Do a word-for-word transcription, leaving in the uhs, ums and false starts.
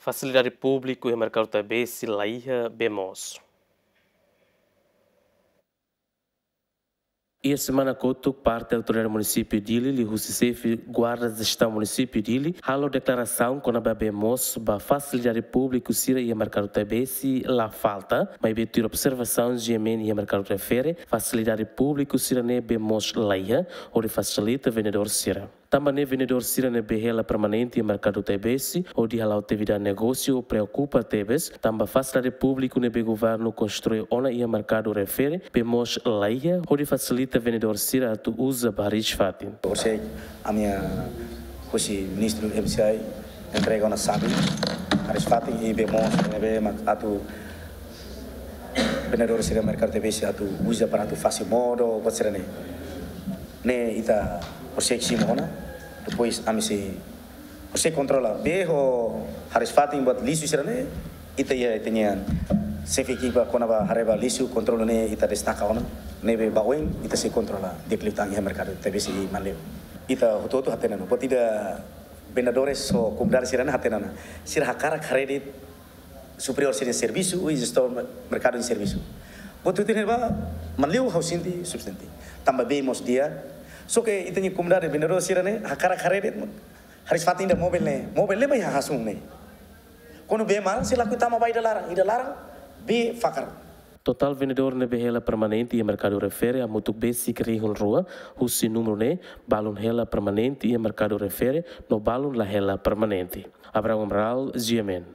Fasilidade públiku iha merkadu Taibesi laiha bee moos. Iha semana kotuk, parte autoridade munisípiu Dili liuhusi xefe guarda jestaun munisípiu Dili halo deklarasaun kona-ba bee moos ba fasilidade públiku sira iha merkadu Taibesi la falta, maibé tuir observasaun G M N iha merkadu refere, fasilidade públiku sira-ne'e bee moos laiha hodi fasilita vendedór sira. Tanba ne'e vendedór sira ne'ebé hela permanente iha merkadu Taibesi hodi hala'o atividade negósiu preokupa tebes, tanba fasilidade públiku ne'ebé governu konstrui ona iha merkadu refere bee moos laiha hodi fasilita vendedór sira atu uza ba hariis fatin. Horisehik ami husi Ministru M C I entrega ona xave, hariis fatin i bee moos ne'ebé mak atu vendedór sira merkadu Taibesi atu uza para atu fase modo, buat sira-ne'e. Ne'e ita horisehik simu ona, depois ami sei horisehik kontrola. Bee ho hariis fatin buat lixu sira-ne'e, ita iha ita-nia xefe ekipa kona-ba haree ba lixu kontrola ne'e ita destaka ona. Ne'ebé ba oin ita sei kontrola di'ak liután iha merkadu Taibesi i Manleu. Ita hotu-hotu hatene ona. Buat ida vendedores ho komunidade sira-ne'e hatene ona. Sira hakarak haree de'it superiór sira-nia servisu, i jestaun merkadu nia servisu. Buat hotu ne'ebá, Manleu ha'u sente sufisiente. Tanba bee moos di'ak. Só ke ita-nia komunidade vendedór sira-ne'e hakarak haree de'it hariis fatin ida mobil ne'e. Mobil ne'e mai hahasun ne'e. Kuandu bee maran, sira lakohi tama ba ida laran. Ida laran, bee fakar. Totál vendedór ne'ebé hela permanente iha merkadu refere hamutuk besik rihun rua, husi númeru ne'e, balun hela permanente iha merkadu refere, no balun la hela permanente. Abraham Amaral, G M N.